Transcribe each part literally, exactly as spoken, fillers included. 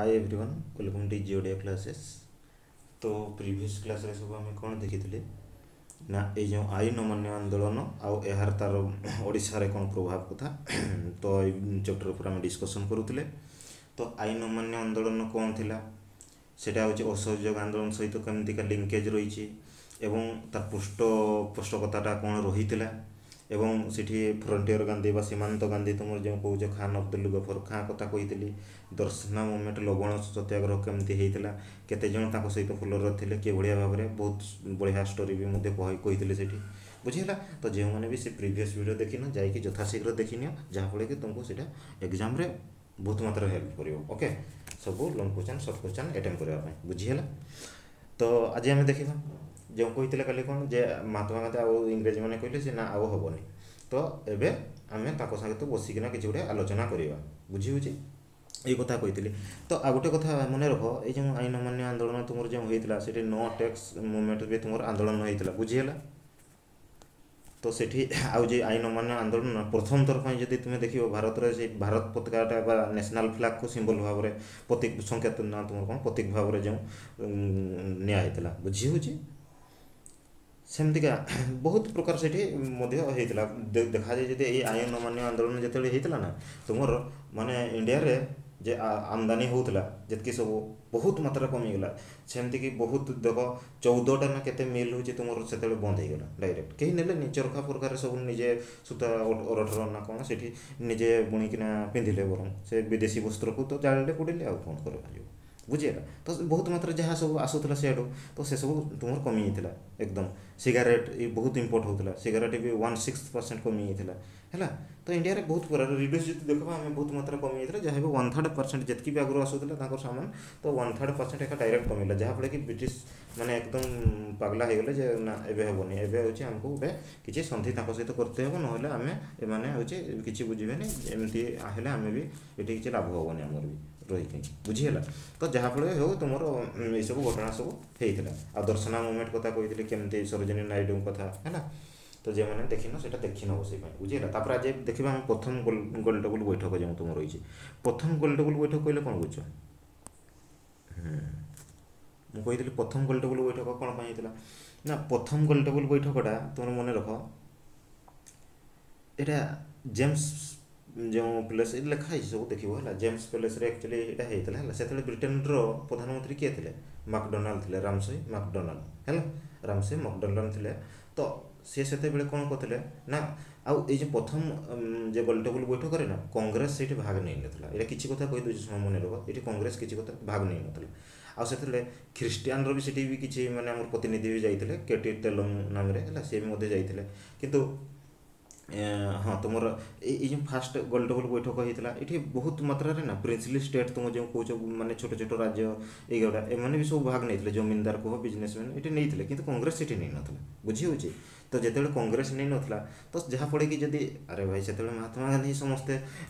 Hi everyone welcome to G Odia Classes ତ previous କ୍ଲାସ୍ରେ ସବୁ ଆମେ କ'ଣ ଦେଖିଥିଲେ ନା ଏଇ ଯେଉଁ ଆଇନ ଅମାନ୍ୟ ଆନ୍ଦୋଳନ ଆଉ ଏହାର ତା'ର ଓଡ଼ିଶାରେ କ'ଣ ପ୍ରଭାବ କଥା ତ ଏଇ ଚାପ୍ଟର ଉପରେ ଆମେ ଡିସ୍କସନ୍ କରୁଥିଲେ ତ ଆଇନ ଅମାନ୍ୟ ଆନ୍ଦୋଳନ କ'ଣ ଥିଲା ସେଇଟା ହେଉଛି ଅସହଯୋଗ ଆନ୍ଦୋଳନ ସହିତ କେମିତିକା ଲିଙ୍କେଜ୍ ରହିଛି ଏବଂ ତାର ପୃଷ୍ଠପୋଷକତାଟା କ'ଣ ରହିଥିଲା ଏବଂ ସେଠି ଫ୍ରଣ୍ଟିୟର ଗାନ୍ଧୀ ବା ସୀମାନ୍ତ ଗାନ୍ଧୀ ତୁମର ଯେଉଁ କହୁଛ ଖାନ ଅବଦୁଲ ଗଫର ଖାଁ କଥା କହିଥିଲି ଦର୍ଶନା ମୁଭମେଣ୍ଟ ଲବଣ ସତ୍ୟାଗ୍ରହ କେମିତି ହେଇଥିଲା କେତେ ଜଣ ତାଙ୍କ ସହିତ ଫଲୋଅର ଥିଲେ କିଭଳିଆ ଭାବରେ ବହୁତ ବଢ଼ିଆ ଷ୍ଟୋରି ବି ମଧ୍ୟ କହିଥିଲେ ସେଠି ବୁଝିହେଲା ତ ଯେଉଁମାନେ ବି ସେ ପ୍ରିଭିୟସ୍ ଭିଡ଼ିଓ ଦେଖିନ ଯାଇକି ଯଥାଶୀଘ୍ର ଦେଖିନିଅ ଯାହାଫଳରେ କି ତୁମକୁ ସେଇଟା ଏକ୍ଜାମ୍ରେ ବହୁତ ମାତ୍ରାରେ ହେଲ୍ପ କରିବ ଓକେ ସବୁ long question short question attempt କରିବା ପାଇଁ ବୁଝିହେଲା ତ ଆଜି ଆମେ ଦେଖିବା ଯେଉଁ କହିଥିଲେ କାଲି କ'ଣ ଯେ ମହାତ୍ମା ଗାନ୍ଧୀ ଆଉ ଇଂରେଜମାନେ କହିଲେ ଯେ ନା ଆଉ ହେବନି ତ ଏବେ ଆମେ ତାଙ୍କ ସାଙ୍ଗେ ବସିକିନା କିଛି ଗୋଟେ ଆଲୋଚନା କରିବା ବୁଝି ହେଉଛି ଏଇ କଥା କହିଥିଲି ତ ଆଉ ଗୋଟେ କଥା ମନେ ରଖ ଏଇ ଯେଉଁ ଆଇନ ଅମାନ୍ୟ ଆନ୍ଦୋଳନ ତୁମର ଯେଉଁ ହେଇଥିଲା ସେଠି ନୋ ଟ୍ୟାକ୍ସ ମୁଭମେଣ୍ଟ ବି ତୁମର ଆନ୍ଦୋଳନ ହେଇଥିଲା ବୁଝିହେଲା ତ ସେଠି ଆଉ ଯେ ଆଇନ ଅମାନ୍ୟ ଆନ୍ଦୋଳନ ପ୍ରଥମ ଥର ପାଇଁ ଯଦି ତୁମେ ଦେଖିବ ଭାରତରେ ସେଇ ଭାରତ ପତାକାଟା ବା ନ୍ୟାସନାଲ୍ ଫ୍ଲାଗ୍କୁ ସିମ୍ବଲ ଭାବରେ ପ୍ରତୀକ ସଂକେତ ନା ତୁମର କ'ଣ ପ୍ରତୀକ ଭାବରେ ଯେଉଁ ନିଆ ହେଇଥିଲା ବୁଝି ହେଉଛି ସେମିତିକା ବହୁତ ପ୍ରକାର ସେଠି ମଧ୍ୟ ହେଇଥିଲା ଦେଖାଯାଏ ଯଦି ଏଇ ଆଇନ ଅମାନ୍ୟ ଆନ୍ଦୋଳନ ଯେତେବେଳେ ହେଇଥିଲା ନା ତୁମର ମାନେ ଇଣ୍ଡିଆରେ ଯେ ଆମଦାନୀ ହେଉଥିଲା ଯେତିକି ସବୁ ବହୁତ ମାତ୍ରାରେ କମିଗଲା ସେମିତିକି ବହୁତ ଦେଖ ଚଉଦଟା ନା କେତେ ମିଲ୍ ହେଉଛି ତୁମର ସେତେବେଳେ ବନ୍ଦ ହେଇଗଲା ଡାଇରେକ୍ଟ କେହି ନେଲେନି ଚରଖା ଫରଖାରେ ସବୁ ନିଜେ ସୂତା ଅରଠର ନା କ'ଣ ସେଠି ନିଜେ ବୁଣିକିନା ପିନ୍ଧିଲେ ବରଂ ସେ ବିଦେଶୀ ବସ୍ତ୍ରକୁ ତ ଜାଳିଲେ ପୋଡ଼ିଲେ ଆଉ କ'ଣ କରାଯିବ ବୁଝିହେଲା ତ ବହୁତ ମାତ୍ରାରେ ଯାହା ସବୁ ଆସୁଥିଲା ସିଆଡ଼ୁ ତ ସେସବୁ ତୁମର କମିଯାଇଥିଲା ଏକଦମ ସିଗାରେଟ୍ ଏ ବହୁତ ଇମ୍ପୋର୍ଟ ହେଉଥିଲା ସିଗାରେଟ୍ ବି ୱାନ୍ ସିକ୍ସ ପରସେଣ୍ଟ କମିଯାଇଥିଲା ହେଲା ତ ଇଣ୍ଡିଆରେ ବହୁତ ପ୍ରକାର ରିଡ୍ୟୁସ୍ ଯଦି ଦେଖିବା ଆମେ ବହୁତ ମାତ୍ରାରେ କମିଯାଇଥିଲା ଯାହା ବି ୱାନ୍ ଥାର୍ଡ଼ ପରସେଣ୍ଟ ଯେତିକି ବି ଆଗରୁ ଆସୁଥିଲା ତାଙ୍କର ସାମାନ ତ ୱାନ୍ ଥାର୍ଡ଼ ପରସେଣ୍ଟ ଏକା ଡାଇରେକ୍ଟ କମିଲା ଯାହାଫଳରେ କି ବ୍ରିଟିଶ ମାନେ ଏକଦମ ପାଗଲା ହେଇଗଲେ ଯେ ନା ଏବେ ହେବନି ଏବେ ହେଉଛି ଆମକୁ ଗୋଟେ କିଛି ସନ୍ଧି ତାଙ୍କ ସହିତ କରତେ ହେବ ନହେଲେ ଆମେ ଏମାନେ ହେଉଛି କିଛି ବୁଝିବେନି ଏମିତି ହେଲେ ଆମେ ବି ଏଠି କିଛି ଲାଭ ହେବନି ଆମର ବି ରହିକି ବୁଝିହେଲା ତ ଯାହାଫଳରେ ହେଉ ତୁମର ଏଇସବୁ ଘଟଣା ସବୁ ହେଇଥିଲା ଆଉ ଦର୍ଶନା ମୁଭମେଣ୍ଟ କଥା କହିଥିଲି କେମିତି ସରୋଜିନୀ ନାଇଡୁଙ୍କ କଥା ହେଲା ତ ଯେଉଁମାନେ ଦେଖିନ ସେଇଟା ଦେଖିନେବ ସେଇ ପାଇଁ ବୁଝିହେଲା ତାପରେ ଆଜି ଦେଖିବା ଆମେ ପ୍ରଥମ ଗୋଲ ଗୋଲ ଟେବୁଲ ବୈଠକ ଯେଉଁ ତୁମର ରହିଛି ପ୍ରଥମ ଗୋଲ ଟେବୁଲ ବୈଠକ କହିଲେ କ'ଣ ବୁଝୁଛ ମୁଁ କହିଥିଲି ପ୍ରଥମ ଗୋଲ ଟେବୁଲ ବୈଠକ କ'ଣ ପାଇଁ ହେଇଥିଲା ନା ପ୍ରଥମ ଗୋଲ ଟେବୁଲ ବୈଠକଟା ତୁମର ମନେ ରଖ ଏଇଟା ଜେମ୍ସ ଯେଉଁ ପ୍ଲେସ୍ ଏଠି ଲେଖା ହେଇଛି ସବୁ ଦେଖିବ ହେଲା ଜେମ୍ସ ପ୍ୟାଲେସ୍ରେ ଆକ୍ଚୁଆଲି ଏଇଟା ହେଇଥିଲା ହେଲା ସେତେବେଳେ ବ୍ରିଟେନର ପ୍ରଧାନମନ୍ତ୍ରୀ କିଏ ଥିଲେ ମାକଡୋନାଲ୍ଡ ଥିଲେ ରାମସେ ମାକଡୋନାଲ୍ଡ ହେଲା ରାମସେ ମାକଡୋନାଲ୍ଡ ଥିଲେ ତ ସିଏ ସେତେବେଳେ କ'ଣ କରିଥିଲେ ନା ଆଉ ଏଇ ଯେଉଁ ପ୍ରଥମ ଯେ ଗୋଲ ଟେବୁଲ ବୈଠକରେ ନା କଂଗ୍ରେସ ସେଇଠି ଭାଗ ନେଇନଥିଲା ଏଇଟା କିଛି କଥା କହିଦେଉଛି ଶୁଣ ମନେ ରଖ ଏଠି କଂଗ୍ରେସ କିଛି କଥା ଭାଗ ନେଇନଥିଲା ଆଉ ସେତେବେଳେ ଖ୍ରୀଷ୍ଟିଆନର ବି ସେଠି ବି କିଛି ମାନେ ଆମର ପ୍ରତିନିଧି ବି ଯାଇଥିଲେ କେଟି ତେଲଙ୍ଗ ନାମରେ ହେଲା ସିଏ ବି ମଧ୍ୟ ଯାଇଥିଲେ କିନ୍ତୁ ହଁ ତୁମର ଏଇ ଏଇ ଯେଉଁ ଫାଷ୍ଟ ଗୋଲ ଟେବୁଲ ବୈଠକ ହେଇଥିଲା ଏଠି ବହୁତ ମାତ୍ରାରେ ନା ପ୍ରିନ୍ସଲି ଷ୍ଟେଟ୍ ତୁମ ଯେଉଁ କହୁଛ ମାନେ ଛୋଟ ଛୋଟ ରାଜ୍ୟ ଏଇଗୁଡ଼ା ଏମାନେ ବି ସବୁ ଭାଗ ନେଇଥିଲେ ଜମିନଦାର କୁହ ବିଜନେସମ୍ୟାନ୍ ଏଠି ନେଇଥିଲେ କିନ୍ତୁ କଂଗ୍ରେସ ସେଠି ନେଇନଥିଲା ବୁଝି ହେଉଛି ତ ଯେତେବେଳେ କଂଗ୍ରେସ ନେଇନଥିଲା ତ ଯାହାଫଳରେ କି ଯଦି ଆରେ ଭାଇ ସେତେବେଳେ ମହାତ୍ମା ଗାନ୍ଧୀ ସମସ୍ତେ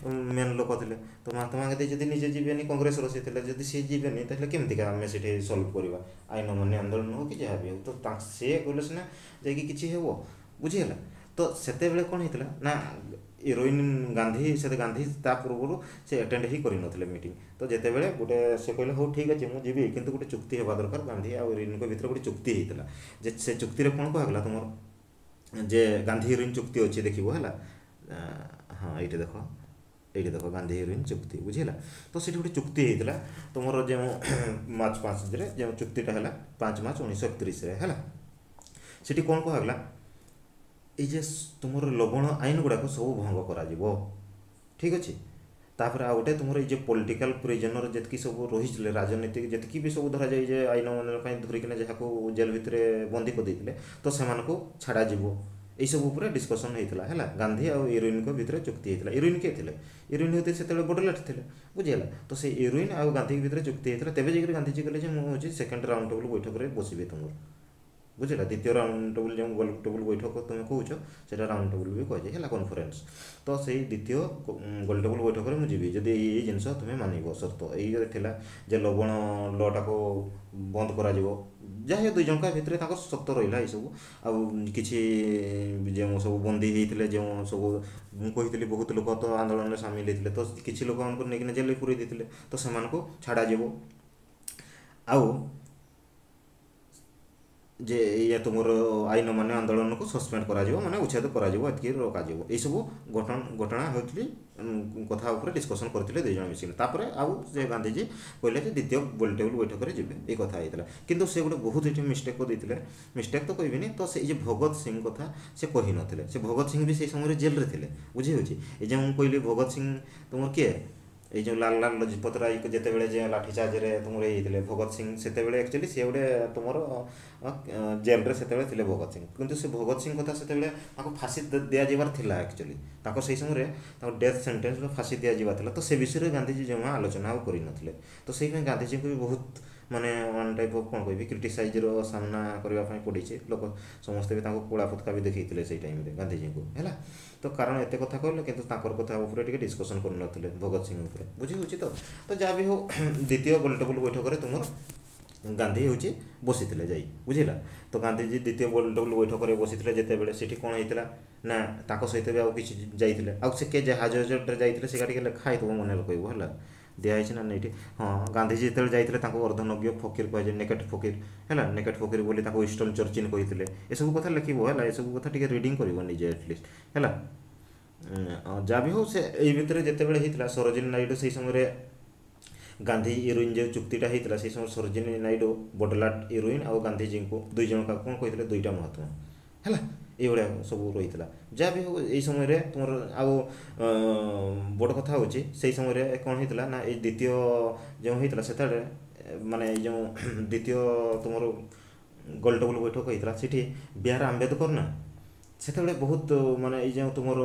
ମେନ୍ ଲୋକ ଥିଲେ ତ ମହାତ୍ମା ଗାନ୍ଧୀ ଯଦି ନିଜେ ଯିବେନି କଂଗ୍ରେସର ସେ ଥିଲେ ଯଦି ସିଏ ଯିବେନି ତାହେଲେ କେମିତିକା ଆମେ ସେଠି ସଲ୍ଭ କରିବା ଆଇନ ଅମାନ୍ୟ ଆନ୍ଦୋଳନ ହଉ କି ଯାହା ବି ହଉ ତ ସିଏ ଗଲେ ସିନା ଯାଇକି କିଛି ହେବ ବୁଝିହେଲା ତ ସେତେବେଳେ କ'ଣ ହେଇଥିଲା ନା ଇରୱିନ୍ ଗାନ୍ଧୀ ସେ ଗାନ୍ଧୀ ତା ପୂର୍ବରୁ ସେ ଆଟେଣ୍ଡ ହିଁ କରିନଥିଲେ ମିଟିଂ ତ ଯେତେବେଳେ ଗୋଟେ ସେ କହିଲେ ହଉ ଠିକ୍ ଅଛି ମୁଁ ଯିବି କିନ୍ତୁ ଗୋଟେ ଚୁକ୍ତି ହେବା ଦରକାର ଗାନ୍ଧୀ ଆଉ ଇରୱିନ୍ଙ୍କ ଭିତରେ ଗୋଟେ ଚୁକ୍ତି ହେଇଥିଲା ଯେ ସେ ଚୁକ୍ତିରେ କ'ଣ କୁହାଗଲା ତୁମର ଯେ ଗାନ୍ଧୀ ଇରୱିନ୍ ଚୁକ୍ତି ଅଛି ଦେଖିବ ହେଲା ହଁ ଏଇଠି ଦେଖ ଏଇଠି ଦେଖ ଗାନ୍ଧୀ ଇରୱିନ୍ ଚୁକ୍ତି ବୁଝିହେଲା ତ ସେଠି ଗୋଟେ ଚୁକ୍ତି ହେଇଥିଲା ତୁମର ଯେଉଁ ମାର୍ଚ୍ଚ ପାଞ୍ଚରେ ଯେଉଁ ଚୁକ୍ତିଟା ହେଲା ପାଞ୍ଚ ମାର୍ଚ୍ଚ ଉଣେଇଶହ ଏକତିରିଶରେ ହେଲା ସେଠି କ'ଣ କୁହାଗଲା ଏଇ ଯେ ତୁମର ଲବଣ ଆଇନ ଗୁଡ଼ାକ ସବୁ ଭଙ୍ଗ କରାଯିବ ଠିକ୍ ଅଛି ତାପରେ ଆଉ ଗୋଟେ ତୁମର ଏଇ ଯେ ପଲିଟିକାଲ ପ୍ରିଜନର ଯେତିକି ସବୁ ରହିଥିଲେ ରାଜନୀତିକ ଯେତିକି ବି ସବୁ ଧରାଯାଏ ଯେ ଆଇନ ଅମାନ୍ୟ ପାଇଁ ଧରିକିନା ଯାହାକୁ ଜେଲ୍ ଭିତରେ ବନ୍ଦୀ କରିଦେଇଥିଲେ ତ ସେମାନଙ୍କୁ ଛାଡ଼ାଯିବ ଏଇସବୁ ଉପରେ ଡିସ୍କସନ୍ ହେଇଥିଲା ହେଲା ଗାନ୍ଧୀ ଆଉ ଇରୱିନ୍ଙ୍କ ଭିତରେ ଚୁକ୍ତି ହେଇଥିଲା ଇରୱିନ୍ କିଏ ଥିଲେ ଇରୱିନ୍ ହେଉଥିଲେ ସେତେବେଳେ ବଡ଼ଲାଟ ଥିଲେ ବୁଝିହେଲା ତ ସେଇ ଇରୱିନ୍ ଆଉ ଗାନ୍ଧୀଙ୍କ ଭିତରେ ଚୁକ୍ତି ହେଇଥିଲା ତେବେ ଯାଇକରି ଗାନ୍ଧିଜୀ କହିଲେ ଯେ ମୁଁ ହେଉଛି ସେକେଣ୍ଡ ରାଉଣ୍ଡ ଟେବୁଲ ବୈଠକରେ ବସିବି ତୁମର ବୁଝିଲା ଦ୍ୱିତୀୟ ରାଉଣ୍ଡ ଟେବୁଲ୍ ଯେଉଁ ଗୋଲ ଟେବୁଲ୍ ବୈଠକ ତୁମେ କହୁଛ ସେଇଟା ରାଉଣ୍ଡ ଟେବୁଲ୍ ବି କୁହାଯାଏ ହେଲା କନଫରେନ୍ସ ତ ସେଇ ଦ୍ୱିତୀୟ ଗୋଲ ଟେବୁଲ୍ ବୈଠକରେ ମୁଁ ଯିବି ଯଦି ଏଇ ଏଇ ଜିନିଷ ତୁମେ ମାନିବ ସର୍ତ୍ତ ଏଇ ଥିଲା ଯେ ଲବଣ ଲଟାକୁ ବନ୍ଦ କରାଯିବ ଯାହା ଦୁଇ ଜଣଙ୍କ ଭିତରେ ତାଙ୍କର ସର୍ତ୍ତ ରହିଲା ଏଇସବୁ ଆଉ କିଛି ଯେଉଁ ସବୁ ବନ୍ଦୀ ହେଇଥିଲେ ଯେଉଁ ସବୁ ମୁଁ କହିଥିଲି ବହୁତ ଲୋକ ତ ଆନ୍ଦୋଳନରେ ସାମିଲ ହେଇଥିଲେ ତ କିଛି ଲୋକମାନଙ୍କୁ ନେଇକିନା ଜେଲରେ ପୁରେଇ ଦେଇଥିଲେ ତ ସେମାନଙ୍କୁ ଛାଡ଼ାଯିବ ଆଉ ଯେ ଏଇଆ ତୁମର ଆଇନ ଅମାନ୍ୟ ଆନ୍ଦୋଳନକୁ ସସ୍ପେଣ୍ଡ କରାଯିବ ମାନେ ଉଚ୍ଛେଦ କରାଯିବ ଏତିକି ରଖାଯିବ ଏଇସବୁ ଘଟଣା ଘଟଣା ହେଉଥିଲି କଥା ଉପରେ ଡିସ୍କସନ୍ କରିଥିଲେ ଦୁଇ ଜଣ ମିଶିକି ତାପରେ ଆଉ ସେ ଗାନ୍ଧିଜୀ କହିଲେ ଯେ ଦ୍ୱିତୀୟ ଗୋଲ ଟେବୁଲ୍ ବୈଠକରେ ଯିବେ ଏଇ କଥା ହେଇଥିଲା କିନ୍ତୁ ସେ ଗୋଟେ ବହୁତ ଏଠି ମିଷ୍ଟେକ୍ କରିଦେଇଥିଲେ ମିଷ୍ଟେକ୍ ତ କହିବିନି ତ ସେଇ ଯେ ଭଗତ ସିଂ କଥା ସେ କହିନଥିଲେ ସେ ଭଗତ ସିଂ ବି ସେଇ ସମୟରେ ଜେଲରେ ଥିଲେ ବୁଝି ହେଉଛି ଏ ଯେଉଁ ମୁଁ କହିଲି ଭଗତ ସିଂ ତୁମର କିଏ ଏଇ ଯେଉଁ ଲାଲ ଲାଲ ଲଜପତ ରାୟ ଯେତେବେଳେ ଯେ ଲାଠି ଚାର୍ଜରେ ତୁମର ହେଇଥିଲେ ଭଗତ ସିଂ ସେତେବେଳେ ଆକ୍ଚୁଆଲି ସିଏ ଗୋଟେ ତୁମର ଜେଲରେ ସେତେବେଳେ ଥିଲେ ଭଗତ ସିଂ କିନ୍ତୁ ସେ ଭଗତ ସିଂ କଥା ସେତେବେଳେ ତାଙ୍କୁ ଫାଶୀ ଦିଆଯିବାର ଥିଲା ଆକ୍ଚୁଆଲି ତାଙ୍କ ସେଇ ସମୟରେ ତାଙ୍କୁ ଡେଥ୍ ସେଣ୍ଟେନ୍ସ ବା ଫାଶୀ ଦିଆଯିବାର ଥିଲା ତ ସେ ବିଷୟରେ ଗାନ୍ଧିଜୀ ଜମା ଆଲୋଚନା ଆଉ କରିନଥିଲେ ତ ସେଇପାଇଁ ଗାନ୍ଧିଜୀଙ୍କୁ ବି ବହୁତ ମାନେ ୱାନ୍ ଟାଇପ୍ ଅଫ୍ କ'ଣ କହିବି କ୍ରିଟିସାଇଜ୍ର ସାମ୍ନା କରିବା ପାଇଁ ପଡ଼ିଛି ଲୋକ ସମସ୍ତେ ବି ତାଙ୍କୁ କଳା ପତାକା ବି ଦେଖେଇଥିଲେ ସେଇ ଟାଇମ୍ରେ ଗାନ୍ଧିଜୀଙ୍କୁ ହେଲା ତ କାରଣ ଏତେ କଥା କହିଲେ କିନ୍ତୁ ତାଙ୍କର କଥା ଉପରେ ଟିକେ ଡିସ୍କସନ୍ କରିନଥିଲେ ଭଗତ ସିଂ ଉପରେ ବୁଝି ହେଉଛି ତ ତ ଯାହା ବି ହଉ ଦ୍ୱିତୀୟ ଗୋଲଟେବୁଲ୍ ବୈଠକରେ ତୁମର ଗାନ୍ଧୀ ହେଉଛି ବସିଥିଲେ ଯାଇ ବୁଝିଲା ତ ଗାନ୍ଧିଜୀ ଦ୍ୱିତୀୟ ଗୋଲଟେବୁଲ୍ ବୈଠକରେ ବସିଥିଲେ ଯେତେବେଳେ ସେଠି କ'ଣ ହେଇଥିଲା ନା ତାଙ୍କ ସହିତ ବି ଆଉ କିଛି ଯାଇଥିଲେ ଆଉ ସେ କେ ଜାହାଜରେ ଯାଇଥିଲେ ସେଇଟା ଟିକେ ଲେଖା ହେଇଥିବ ମନେ ରଖିବ ହେଲା ଦିଆହେଇଛି ନା ଏଇଠି ହଁ ଗାନ୍ଧିଜୀ ଯେତେବେଳେ ଯାଇଥିଲେ ତାଙ୍କୁ ଅର୍ଦ୍ଧନଗ୍ନ ଫକୀର କୁହାଯାଏ ନେକେଟ୍ ଫକୀର ହେଲା ନେକେଟ୍ ଫକୀର ବୋଲି ତାକୁ ୱିନଷ୍ଟନ୍ ଚର୍ଚିଲ୍ କହିଥିଲେ ଏସବୁ କଥା ଲେଖିବ ହେଲା ଏସବୁ କଥା ଟିକେ ରିଡ଼ିଂ କରିବ ନିଜେ ଆଟଲିଷ୍ଟ ହେଲା ଯାହା ବି ହଉ ସେ ଏଇ ଭିତରେ ଯେତେବେଳେ ହେଇଥିଲା ସରୋଜିନୀ ନାଇଡୁ ସେଇ ସମୟରେ ଗାନ୍ଧୀ ଇରୱିନ୍ ଯେଉଁ ଚୁକ୍ତିଟା ହେଇଥିଲା ସେଇ ସମୟରେ ସରୋଜିନୀ ନାଇଡୁ ବଡଲାଟ ଇରୱିନ୍ ଆଉ ଗାନ୍ଧିଜୀଙ୍କୁ ଦୁଇ ଜଣ କ'ଣ କହିଥିଲେ ଦୁଇଟା ମହାତ୍ମା ହେଲା ଏଇଭଳିଆ ସବୁ ରହିଥିଲା ଯାହା ବି ହଉ ଏଇ ସମୟରେ ତୁମର ଆଉ ବଡ଼ କଥା ହେଉଛି ସେଇ ସମୟରେ କ'ଣ ହେଇଥିଲା ନା ଏଇ ଦ୍ୱିତୀୟ ଯେଉଁ ହେଇଥିଲା ସେତେବେଳେ ମାନେ ଏଇ ଯେଉଁ ଦ୍ୱିତୀୟ ତୁମର ଗୋଲଟେବୁଲ୍ ବୈଠକ ହେଇଥିଲା ସେଠି ବି ଆର୍ ଆମ୍ବେଦକର ନା ସେତେବେଳେ ବହୁତ ମାନେ ଏଇ ଯେଉଁ ତୁମର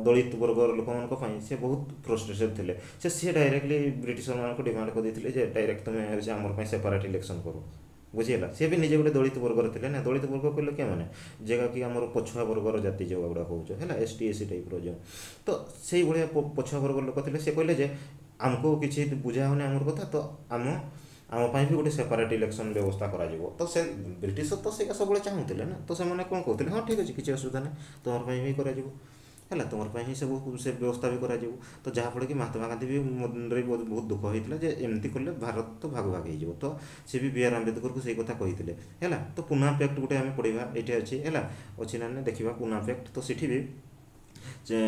ଦଳିତ ବର୍ଗର ଲୋକମାନଙ୍କ ପାଇଁ ସେ ବହୁତ ଫ୍ରଷ୍ଟ୍ରେସନ୍ ଥିଲେ ସେ ସିଏ ଡାଇରେକ୍ଟଲି ବ୍ରିଟିଶରମାନଙ୍କୁ ଡିମାଣ୍ଡ କରିଦେଇଥିଲେ ଯେ ଡାଇରେକ୍ଟ ତୁମେ ହେଉଛି ଆମର ପାଇଁ ସେପାରେଟ୍ ଇଲେକ୍ସନ୍ କର ବୁଝିହେଲା ସିଏ ବି ନିଜେ ଗୋଟେ ଦଳିତ ବର୍ଗର ଥିଲେ ନା ଦଳିତ ବର୍ଗ କହିଲେ କେଉଁମାନେ ଯାହାକି ଆମର ପଛୁଆ ବର୍ଗର ଜାତି ଯେଉଁଗୁଡ଼ା କହୁଛ ହେଲା ଏସ୍ ଟି ଏସ୍ ସି ଟାଇପ୍ର ଯେଉଁ ତ ସେଇଭଳିଆ ପଛୁଆ ବର୍ଗର ଲୋକ ଥିଲେ ସେ କହିଲେ ଯେ ଆମକୁ କିଛି ବୁଝା ହେଉନି ଆମର କଥା ତ ଆମ ଆମ ପାଇଁ ବି ଗୋଟେ ସେପାରେଟ୍ ଇଲେକ୍ସନ୍ ବ୍ୟବସ୍ଥା କରାଯିବ ତ ସେ ବ୍ରିଟିଶର ତ ସେଇଟା ସବୁବେଳେ ଚାହୁଁଥିଲେ ନା ତ ସେମାନେ କ'ଣ କହୁଥିଲେ ହଁ ଠିକ୍ ଅଛି କିଛି ଅସୁବିଧା ନାହିଁ ତୁମର ପାଇଁ ବି କରାଯିବ ହେଲା ତୁମର ପାଇଁ ହିଁ ସବୁ ସେ ବ୍ୟବସ୍ଥା ବି କରାଯିବ ତ ଯାହାଫଳରେ କି ମହାତ୍ମା ଗାନ୍ଧୀ ବି ମନରେ ବହୁତ ବହୁତ ଦୁଃଖ ହେଇଥିଲା ଯେ ଏମିତି କଲେ ଭାରତ ତ ଭାଗ ଭାଗ ହେଇଯିବ ତ ସେ ବି ବି ଆର୍ ଆମ୍ବେଦକରକୁ ସେଇ କଥା କହିଥିଲେ ହେଲା ତ ପୁନା ପ୍ୟାକ୍ଟ ଗୋଟେ ଆମେ ପଢ଼ିବା ଏଇଠି ଅଛି ହେଲା ଅଛି ନା ଦେଖିବା ପୁନା ପ୍ୟାକ୍ଟ ତ ସେଠି ବି ଯେ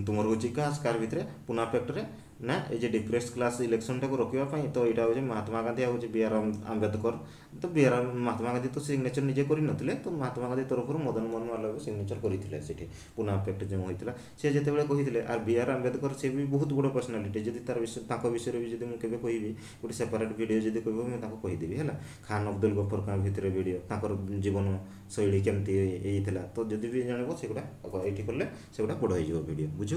ତୁମର ହେଉଛି କାହା କାହାର ଭିତରେ ପୁନା ପ୍ୟାକ୍ଟରେ ନା ଏଇ ଯେ ଡିପ୍ରେସ୍ କ୍ଲାସ୍ ଇଲେକ୍ସନଟାକୁ ରୋକିବା ପାଇଁ ତ ଏଇଟା ହେଉଛି ମହାତ୍ମା ଗାନ୍ଧୀ ଆଉ ହେଉଛି ବି ଆର୍ ଆମ୍ବେଦକର ତ ବି ଆର୍ ମହାତ୍ମା ଗାନ୍ଧୀ ତ ସିଗ୍ନେଚର ନିଜେ କରିନଥିଲେ ତ ମହାତ୍ମା ଗାନ୍ଧୀ ତରଫରୁ ମଦନ ମୋହନ ମାଲବ୍ୟ ସିଗ୍ନେଚର କରିଥିଲେ ସେଠି ପୁନା ପ୍ୟାକ୍ଟ ଯେଉଁ ହୋଇଥିଲା ସେ ଯେତେବେଳେ କହିଥିଲେ ଆର୍ ବି ଆର୍ ଆମ୍ବେଦକର ସେ ବି ବହୁତ ବଡ଼ ପର୍ସନାଲିଟି ଯଦି ତାର ବିଷୟ ତାଙ୍କ ବିଷୟରେ ବି ଯଦି ମୁଁ କେବେ କହିବି ଗୋଟେ ସେପାରେଟ୍ ଭିଡ଼ିଓ ଯଦି କହିବ ମୁଁ ତାଙ୍କୁ କହିଦେବି ହେଲା ଖାନ ଅବଦୁଲ ଗଫର ଖାଁ ଭିତରେ ଭିଡ଼ିଓ ତାଙ୍କର ଜୀବନ ଶୈଳୀ କେମିତି ହେଇଥିଲା ତ ଯଦି ବି ଜାଣିବ ସେଗୁଡ଼ା ଏଇଠି କଲେ ସେଗୁଡ଼ା ବଡ଼ ହେଇଯିବ ଭିଡ଼ିଓ ବୁଝି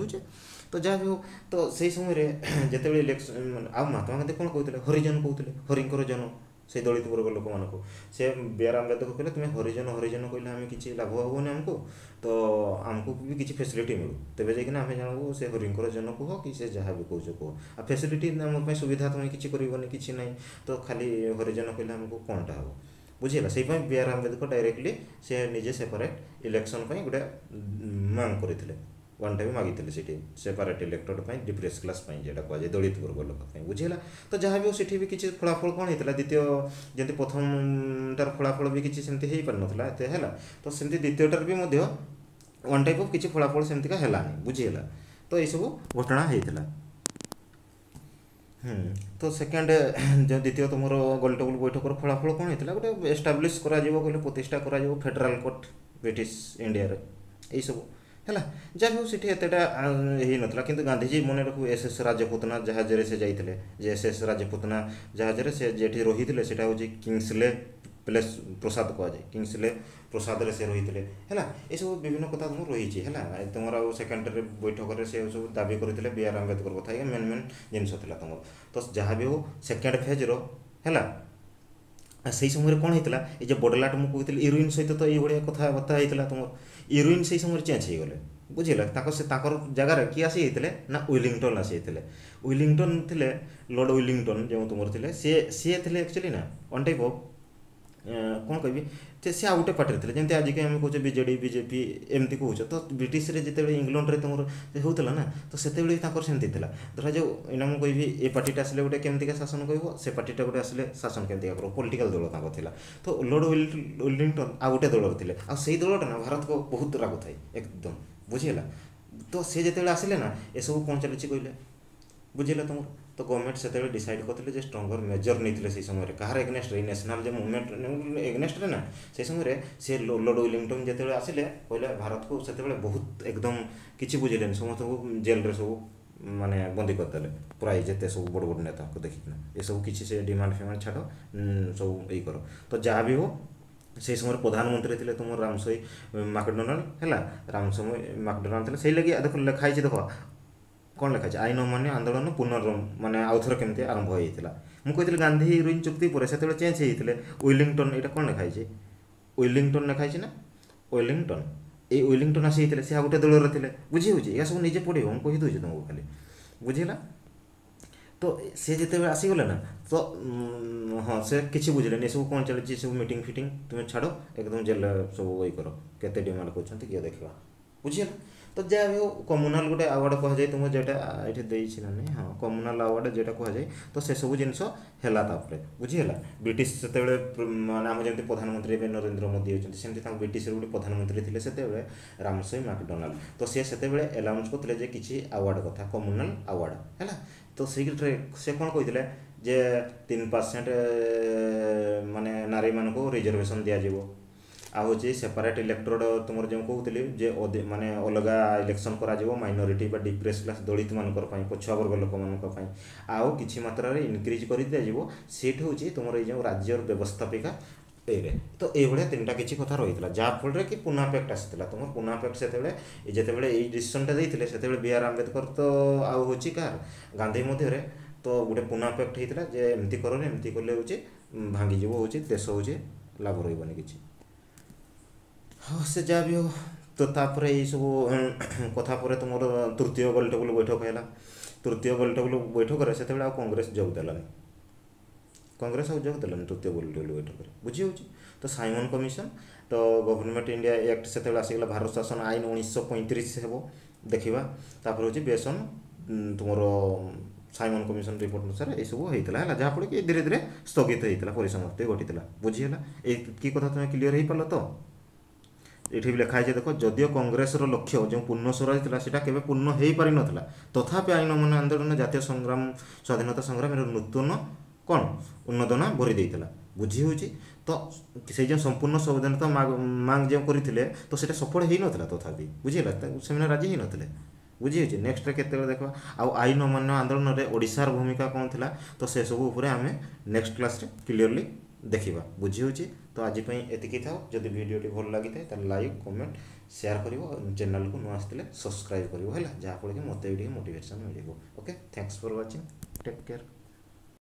ତ ଯାହା ବି ହଉ ତ ସେଇ ସମୟରେ ଯେତେବେଳେ ଇଲେକ୍ସନ୍ ଆଉ ମହାତ୍ମା ଗାନ୍ଧୀ କ'ଣ କହୁଥିଲେ ହରିଜନ କହୁଥିଲେ ହରିଙ୍କର ଜନ ସେଇ ଦଳିତ ବର୍ଗ ଲୋକମାନଙ୍କୁ ସେ ବି ଆର୍ ଆମ୍ବେଦକର କହିଲେ ତୁମେ ହରିଜନ ହରିଜନ କହିଲେ ଆମେ କିଛି ଲାଭ ହେବନି ଆମକୁ ତ ଆମକୁ ବି କିଛି ଫେସିଲିଟି ମିଳୁ ତେବେ ଯାଇକିନା ଆମେ ଜାଣିବୁ ସେ ହରିଙ୍କର ଜନ କୁହ କି ସେ ଯାହା ବି କହୁଛ କୁହ ଆଉ ଫେସିଲିଟି ଆମ ପାଇଁ ସୁବିଧା ତୁମେ କିଛି କରିବନି କିଛି ନାହିଁ ତ ଖାଲି ହରିଜନ କହିଲେ ଆମକୁ କ'ଣଟା ହେବ ବୁଝିହେଲା ସେଇପାଇଁ ବି ଆର୍ ଆମ୍ବେଦକର ଡାଇରେକ୍ଟଲି ସେ ନିଜେ ସେପାରେଟ୍ ଇଲେକ୍ସନ୍ ପାଇଁ ଗୋଟେ ମାଙ୍ଗ କରିଥିଲେ ୱାନ୍ ଟା ବି ମାଗିଥିଲେ ସେଠି ସେପାରେଟ୍ ଇଲେକ୍ଟୋର ପାଇଁ ଡିପ୍ରେସ୍ କ୍ଲାସ୍ ପାଇଁ ଯେଉଁଟା କୁହାଯାଏ ଦଳିତ ବର୍ଗ ଲୋକ ପାଇଁ ବୁଝିହେଲା ତ ଯାହା ବି ହଉ ସେଠି ବି କିଛି ଫଳାଫଳ କ'ଣ ହେଇଥିଲା ଦ୍ୱିତୀୟ ଯେମିତି ପ୍ରଥମଟାର ଫଳାଫଳ ବି କିଛି ସେମିତି ହେଇପାରିନଥିଲା ଏତେ ହେଲା ତ ସେମିତି ଦ୍ୱିତୀୟଟାର ବି ମଧ୍ୟ ୱାନ୍ ଟାଇପ୍ ଅଫ୍ କିଛି ଫଳାଫଳ ସେମିତିକା ହେଲାନି ବୁଝିହେଲା ତ ଏଇସବୁ ଘଟଣା ହେଇଥିଲା ହୁଁ ତ ସେକେଣ୍ଡ ଯେଉଁ ଦ୍ୱିତୀୟ ତୁମର ଗୋଲଟେବୁଲ୍ ବୈଠକର ଫଳାଫଳ କ'ଣ ହେଇଥିଲା ଗୋଟେ ଏଷ୍ଟାବ୍ଲିଶ୍ କରାଯିବ କହିଲେ ପ୍ରତିଷ୍ଠା କରାଯିବ ଫେଡେରାଲ୍ କୋର୍ଟ ବ୍ରିଟିଶ ଇଣ୍ଡିଆରେ ଏଇସବୁ ହେଲା ଯାହା ବି ହଉ ସେଠି ଏତେଟା ହେଇନଥିଲା କିନ୍ତୁ ଗାନ୍ଧିଜୀ ମନେ ରଖୁ ଏସ୍ ଏସ୍ ରାଜପୁତନା ଜାହାଜରେ ସେ ଯାଇଥିଲେ ଯେ ଏସ୍ ଏସ୍ ରାଜପୁତନା ଜାହାଜରେ ସେ ଯେଠି ରହିଥିଲେ ସେଇଟା ହେଉଛି କିଙ୍ଗସଲେ ପ୍ଲେସ୍ ପ୍ରସାଦ କୁହାଯାଏ କିଙ୍ଗସଲେ ପ୍ରସାଦରେ ସେ ରହିଥିଲେ ହେଲା ଏସବୁ ବିଭିନ୍ନ କଥା ତୁମର ରହିଛି ହେଲା ତୁମର ଆଉ ସେକେଣ୍ଡରେ ବୈଠକରେ ସେ ସବୁ ଦାବି କରିଥିଲେ ବି ଆର୍ ଆମ୍ବେଦକର କଥା ଏଇ ମେନ୍ ମେନ୍ ଜିନିଷ ଥିଲା ତୁମର ତ ଯାହା ବି ହଉ ସେକେଣ୍ଡ ଫେଜ୍ର ହେଲା ସେଇ ସମୟରେ କ'ଣ ହେଇଥିଲା ଏଇ ଯେ ବଡ଼ଲାଟ ମୁଁ କହୁଥିଲି ଇରୁଇନ୍ ସହିତ ତ ଏଇଭଳିଆ କଥାବାର୍ତ୍ତା ହେଇଥିଲା ତୁମର ଇରୁଇନ୍ ସେଇ ସମୟରେ ଚେଞ୍ଜ ହେଇଗଲେ ବୁଝିଲା ତାଙ୍କ ସେ ତାଙ୍କର ଜାଗାରେ କିଏ ଆସିଯାଇଥିଲେ ନା ୱିଲିଂଟନ୍ ଆସିଯାଇଥିଲେ ୱିଲିଂଟନ୍ ଥିଲେ ଲର୍ଡ଼ ୱିଲିଂଟନ୍ ଯେଉଁ ତୁମର ଥିଲେ ସିଏ ସିଏ ଥିଲେ ଆକ୍ଚୁଆଲି ନା ୱାନ୍ ଟାଇପ୍ ଅଫ୍ କ'ଣ କହିବି ଯେ ସେ ଆଉ ଗୋଟେ ପାର୍ଟିରେ ଥିଲେ ଯେମିତି ଆଜିକା ଆମେ କହୁଛେ ବିଜେଡ଼ି ବିଜେପି ଏମିତି କହୁଛ ତ ବ୍ରିଟିଶରେ ଯେତେବେଳେ ଇଂଲଣ୍ଡରେ ତୁମର ହେଉଥିଲା ନା ତ ସେତେବେଳେ ବି ତାଙ୍କର ସେମିତି ଥିଲା ଧରାଯାଉ ଏଇନା ମୁଁ କହିବି ଏ ପାର୍ଟିଟା ଆସିଲେ ଗୋଟେ କେମିତିକା ଶାସନ କହିବ ସେ ପାର୍ଟିଟା ଗୋଟେ ଆସିଲେ ଶାସନ କେମିତିକା କରିବ ପଲିଟିକାଲ ଦଳ ତାଙ୍କର ଥିଲା ତ ଲର୍ଡ଼ ୱିଲିଂଟନ୍ ଆଉ ଗୋଟେ ଦଳରେ ଥିଲେ ଆଉ ସେଇ ଦଳଟା ନା ଭାରତକୁ ବହୁତ ରାଗୁଥାଏ ଏକଦମ ବୁଝିହେଲା ତ ସେ ଯେତେବେଳେ ଆସିଲେ ନା ଏସବୁ କ'ଣ ଚାଲିଛି କହିଲେ ବୁଝିଲା ତୁମର ତ ଗଭର୍ଣ୍ଣମେଣ୍ଟ ସେତେବେଳେ ଡିସାଇଡ଼୍ କରିଥିଲେ ଯେ ଷ୍ଟ୍ରଙ୍ଗର ମେଜର ନେଇଥିଲେ ସେଇ ସମୟରେ କାହାର ଏଗନେଷ୍ଟରେ ଏଇ ନ୍ୟାସନାଲ୍ ଯେ ମୁଭମେଣ୍ଟ ଏଗନେଷ୍ଟରେ ନା ସେଇ ସମୟରେ ସେ ଲର୍ଡ଼ ୱିଲିଂଟନ୍ ଯେତେବେଳେ ଆସିଲେ କହିଲେ ଭାରତକୁ ସେତେବେଳେ ବହୁତ ଏକଦମ କିଛି ବୁଝିଲେନି ସମସ୍ତଙ୍କୁ ଜେଲରେ ସବୁ ମାନେ ବନ୍ଦୀ କରିଦେଲେ ପ୍ରାୟ ଯେତେ ସବୁ ବଡ଼ ବଡ଼ ନେତାଙ୍କୁ ଦେଖିକିନା ଏସବୁ କିଛି ସେ ଡିମାଣ୍ଡ ଫିମାଣ୍ଡ ଛାଡ଼ ସବୁ ଏଇ କର ତ ଯାହା ବି ହଉ ସେଇ ସମୟରେ ପ୍ରଧାନମନ୍ତ୍ରୀ ଥିଲେ ତୁମର ରାମସୋଇ ମାକଡୋନାଲ୍ଡ ହେଲା ରାମସୋଇ ମାକଡୋନାଲ୍ଡ ଥିଲେ ସେଇ ଲାଗି ଦେଖ ଲେଖା ହେଇଛି ଦେଖ କ'ଣ ଲେଖା ହେଇଛି ଆଇନ ଅମାନ୍ୟ ଆନ୍ଦୋଳନ ପୁନର୍ ମାନେ ଆଉଥରେ କେମିତି ଆରମ୍ଭ ହେଇଯାଇଥିଲା ମୁଁ କହିଥିଲି ଗାନ୍ଧୀ ଇରୁଇନ୍ ଚୁକ୍ତି ପରେ ସେତେବେଳେ ଚେଞ୍ଜ ହେଇଯାଇଥିଲେ ୱିଲିଂଟନ୍ ଏଇଟା କ'ଣ ଲେଖା ହେଇଛି ୱିଲିଂଟନ୍ ଲେଖା ହେଇଛି ନା ୱେଲିଂଟନ୍ ଏଇ ୱିଲିଂଟନ୍ ଆସିଯାଇଥିଲେ ସେ ଆଉ ଗୋଟେ ଦଳରେ ଥିଲେ ବୁଝି ହେଉଛି ଏହା ସବୁ ନିଜେ ପଢ଼ିବ ମୁଁ କହିଦେଉଛି ତୁମକୁ ଖାଲି ବୁଝିଲା ତ ସେ ଯେତେବେଳେ ଆସିଗଲେ ନା ତ ହଁ ସେ କିଛି ବୁଝିଲେନି ଏସବୁ କ'ଣ ଚାଲିଛି ସବୁ ମିଟିଂ ଫିଟିଂ ତୁମେ ଛାଡ଼ ଏକଦମ ଜେଲରେ ସବୁ ଇଏ କର କେତେ ଡିମାଣ୍ଡ କରୁଛନ୍ତି କିଏ ଦେଖିବା ବୁଝିହେଲା ତ ଯାହା ବି ହଉ କମ୍ୟୁନାଲ୍ ଗୋଟେ ଆୱାର୍ଡ଼ କୁହାଯାଏ ତୁମ ଯେଟା ଏଠି ଦେଇଛି ନା ନାଇଁ ହଁ କମ୍ୟୁନାଲ୍ ଆୱାର୍ଡ଼ ଯେଟା କୁହାଯାଏ ତ ସେସବୁ ଜିନିଷ ହେଲା ତାପରେ ବୁଝିହେଲା ବ୍ରିଟିଶ ସେତେବେଳେ ମାନେ ଆମ ଯେମିତି ପ୍ରଧାନମନ୍ତ୍ରୀ ଏବେ ନରେନ୍ଦ୍ର ମୋଦି ଅଛନ୍ତି ସେମିତି ତାଙ୍କ ବ୍ରିଟିଶର ଗୋଟେ ପ୍ରଧାନମନ୍ତ୍ରୀ ଥିଲେ ସେତେବେଳେ ରାମସୋଇ ମାକଡୋନାଲ୍ଡ ତ ସେ ସେତେବେଳେ ଆନାଉନ୍ସ କରିଥିଲେ ଯେ କିଛି ଆୱାର୍ଡ଼ କଥା କମ୍ୟୁନାଲ୍ ଆୱାର୍ଡ଼ ହେଲା ତ ସେଇଥିରେ ସେ କ'ଣ କହିଥିଲେ ଯେ ତିନି ପରସେଣ୍ଟ ମାନେ ନାରୀମାନଙ୍କୁ ରିଜର୍ଭେସନ୍ ଦିଆଯିବ ଆଉ ହେଉଛି ସେପାରେଟ୍ ଇଲେକ୍ଟୋରେଟ୍ ତୁମର ଯେଉଁ କହୁଥିଲି ଯେ ମାନେ ଅଲଗା ଇଲେକ୍ସନ୍ କରାଯିବ ମାଇନରିଟି ବା ଡିପ୍ରେସ୍ କ୍ଲାସ୍ ଦଳିତମାନଙ୍କର ପାଇଁ ପଛୁଆ ବର୍ଗ ଲୋକମାନଙ୍କ ପାଇଁ ଆଉ କିଛି ମାତ୍ରାରେ ଇନକ୍ରିଜ୍ କରି ଦିଆଯିବ ସିଟ୍ ହେଉଛି ତୁମର ଏଇ ଯେଉଁ ରାଜ୍ୟର ବ୍ୟବସ୍ଥାପିକା ଏଇରେ ତ ଏଇଭଳିଆ ତିନିଟା କିଛି କଥା ରହିଥିଲା ଯାହାଫଳରେ କି ପୁନା ପ୍ୟାକ୍ଟ ଆସିଥିଲା ତୁମର ପୁନା ପ୍ୟାକ୍ଟ ସେତେବେଳେ ଯେତେବେଳେ ଏଇ ଡିସିସନ୍ଟା ଦେଇଥିଲେ ସେତେବେଳେ ବି ଆର୍ ଆମ୍ବେଦକର ତ ଆଉ ହେଉଛି କାହାର ଗାନ୍ଧୀ ମଧ୍ୟରେ ତ ଗୋଟେ ପୁନା ପ୍ୟାକ୍ଟ ହେଇଥିଲା ଯେ ଏମିତି କରନି ଏମିତି କଲେ ହେଉଛି ଭାଙ୍ଗିଯିବ ହେଉଛି ଦେଶ ହେଉଛି ଲାଭ ରହିବନି କିଛି ହଁ ସେ ଯାହା ବି ହଉ ତ ତାପରେ ଏଇସବୁ କଥା ପରେ ତୁମର ତୃତୀୟ ଗୋଲଟେବୁଲ ବୈଠକ ହେଲା ତୃତୀୟ ଗୋଲଟେବୁଲ ବୈଠକରେ ସେତେବେଳେ ଆଉ କଂଗ୍ରେସ ଯୋଗ ଦେଲାନି କଂଗ୍ରେସ ଆଉ ଯୋଗ ଦେଲାନି ତୃତୀୟ ଗୋଲଟେବୁଲ ବୈଠକରେ ବୁଝି ହେଉଛି ତ ସାଇମନ୍ କମିଶନ ତ ଗଭର୍ଣ୍ଣମେଣ୍ଟ ଇଣ୍ଡିଆ ଆକ୍ଟ ସେତେବେଳେ ଆସିଗଲା ଭାରତ ଶାସନ ଆଇନ ଉଣେଇଶହ ପଇଁତିରିଶ ହେବ ଦେଖିବା ତାପରେ ହେଉଛି ବେସନ ତୁମର ସାଇମନ୍ କମିଶନ ରିପୋର୍ଟ ଅନୁସାରେ ଏଇସବୁ ହେଇଥିଲା ହେଲା ଯାହାଫଳରେ କି ଧୀରେ ଧୀରେ ସ୍ଥଗିତ ହେଇଥିଲା ପରିସମାପ୍ତି ଘଟିଥିଲା ବୁଝିହେଲା ଏଇ କି କଥା ତୁମେ କ୍ଲିଅର ହେଇପାରିଲ ତ ଏଠି ବି ଲେଖା ହେଇଛି ଦେଖ ଯଦିଓ କଂଗ୍ରେସର ଲକ୍ଷ୍ୟ ଯେଉଁ ପୂର୍ଣ୍ଣ ସ୍ୱରାଜ ଥିଲା ସେଇଟା କେବେ ପୂର୍ଣ୍ଣ ହେଇପାରିନଥିଲା ତଥାପି ଆଇନ ଅମାନ୍ୟ ଆନ୍ଦୋଳନ ଜାତୀୟ ସଂଗ୍ରାମ ସ୍ୱାଧୀନତା ସଂଗ୍ରାମର ନୂତନ କ'ଣ ଉନ୍ନଦନା ଭରି ଦେଇଥିଲା ବୁଝି ହେଉଛି ତ ସେଇ ଯେଉଁ ସମ୍ପୂର୍ଣ୍ଣ ସ୍ୱାଧୀନତା ମାଙ୍ଗ ଯେଉଁ କରିଥିଲେ ତ ସେଇଟା ସଫଳ ହେଇନଥିଲା ତଥାପି ବୁଝିହେଲା ସେମାନେ ରାଜି ହେଇନଥିଲେ ବୁଝି ହେଉଛି ନେକ୍ସଟରେ କେତେବେଳେ ଦେଖିବା ଆଉ ଆଇନ ଅମାନ୍ୟ ଆନ୍ଦୋଳନରେ ଓଡ଼ିଶାର ଭୂମିକା କ'ଣ ଥିଲା ତ ସେସବୁ ଉପରେ ଆମେ ନେକ୍ସଟ କ୍ଲାସ୍ରେ କ୍ଲିଅରଲି ଦେଖିବା ବୁଝି ହେଉଛି ତ ଆଜି ପାଇଁ ଏତିକି ଥାଉ ଯଦି ଭିଡ଼ିଓଟି ଭଲ ଲାଗିଥାଏ ତାହେଲେ ଲାଇକ୍ କମେଣ୍ଟ ସେୟାର କରିବ ଚ୍ୟାନେଲକୁ ନୂଆ ଆସିଥିଲେ ସବସ୍କ୍ରାଇବ୍ କରିବ ହେଲା ଯାହାଫଳରେ କି ମୋତେ ବି ଟିକେ ମୋଟିଭେସନ୍ ମିଳିବ okay thanks for watching take care